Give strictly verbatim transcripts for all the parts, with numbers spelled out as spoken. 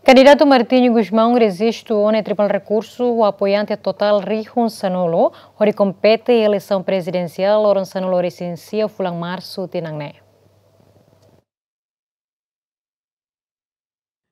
Kandidatu Martinho Gusmão rejistu ona iha Tribunál Rekursu ho apoiante totál rihun sanulu, hodi kompete iha eleisaun prezidensiál loron sanulu-resin-sia fulan Marsu tinan ne'e.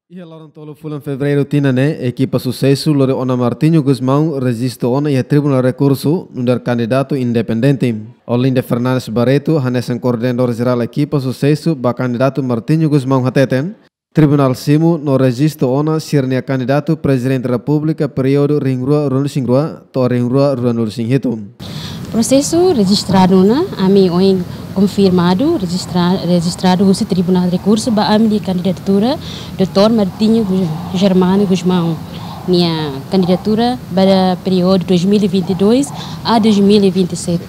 Iha loron tolu fulan Fevereiru tinan ne'e, ekipa susesu lori ona Martinho Gusmão rejistu ona iha Tribunál Rekursu nu'udar kandidatu independente. Olinda Fernandes Barreto, hanesan koordenadór jerál ekipa susesu ba kandidatu Martinho Gusmão hateten, tribunál simu no rejistu ona sira-nia kandidatu Prezidente Repúblika períodu rihun rua ruanulu-resin-rua to'o rihun rua ruanulu-resin-hitu. Prosesu rejistradu ona, ami ohin konfirmadu, rejistra-, rejistradu husi Tribunál Rekursu ba ami-nia kandidatura, doutór Martinho Gu-, Germano Gusmão nia kandidatura para períodu dois mil e vinte e dois a dois mil e vinte e sete.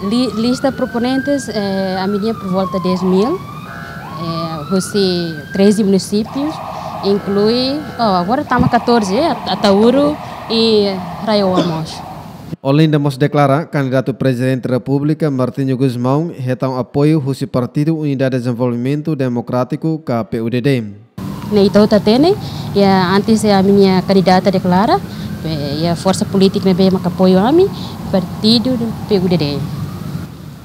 Li-, lista proponentes, eh, ami-nia por volta dez mil, eh, husi treze munisípius, inklui, oh, agora tama catorze, eh, At-, Ataúro e RAEOA mós. Olinda mós deklara, kandidatu Prezidente Repúblika Martinho Gusmão hetan apoiu husi Partidu Unidade Dezenvolvimentu Demokrátiku ka P U D D. Ne'e ita hotu hatene, iha antes iha ami-nia kandidata deklara, be, iha forsa polítika ne'ebé maka apoiu ami, partidu P U D D.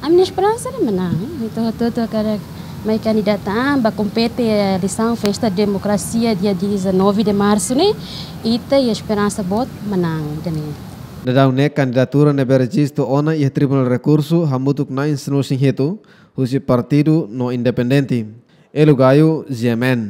Ami-nia esperansa ne'e manán, ita hotu-hotu hakarak mai kandidata, ah, ba kompete iha eleisaun festa demokrasia dia dezanove de marsu ne'e, ita iha esperansa boot manán ida-ne'e. Daudaun ne'e kandidatura ne'ebé rejistu ona iha Tribunál Rekursu hamutuk na'in sanulu-resin-hitu, husi partidu no independente. Elo Gayo, G M N.